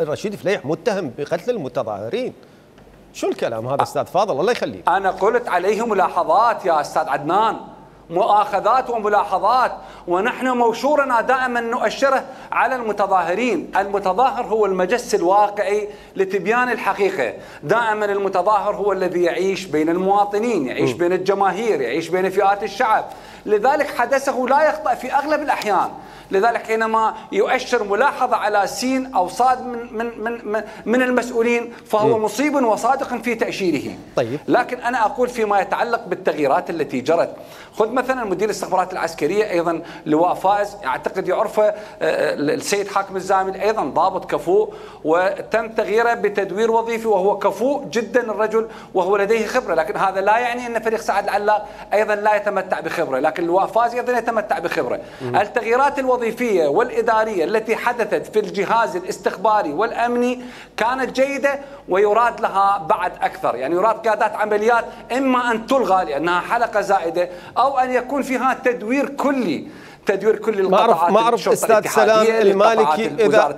رشيد فليح متهم بقتل المتظاهرين. شو الكلام هذا استاذ فاضل الله يخليك؟ انا قلت عليه ملاحظات يا استاذ عدنان، مؤاخذات وملاحظات، ونحن موشورنا دائما نؤشره على المتظاهرين. المتظاهر هو المجس الواقعي لتبيان الحقيقة. دائما المتظاهر هو الذي يعيش بين المواطنين، يعيش بين الجماهير، يعيش بين فئات الشعب، لذلك حدثه لا يخطأ في أغلب الأحيان. لذلك حينما يؤشر ملاحظة على سين أو صاد من المسؤولين فهو مصيب وصادق في تأشيره. طيب. لكن أنا أقول فيما يتعلق بالتغييرات التي جرت، خذ مثلا مدير الاستخبارات العسكرية أيضا لواء فائز، أعتقد يعرفه السيد حاكم الزامل، أيضا ضابط كفؤ وتم تغييره بتدوير وظيفي، وهو كفؤ جدا الرجل وهو لديه خبرة، لكن هذا لا يعني أن فريق سعد العلاق أيضا لا يتمتع بخبرة، لكن لواء فائز أيضا يتمتع بخبرة. التغييرات الوظيفية والإدارية التي حدثت في الجهاز الاستخباري والأمني كانت جيدة ويراد لها بعد أكثر، يعني يراد قيادات عمليات إما أن تلغى لأنها حلقة زائدة أو أن يكون فيها تدوير كلي ما أعرف استاذ سلام المالكي إذا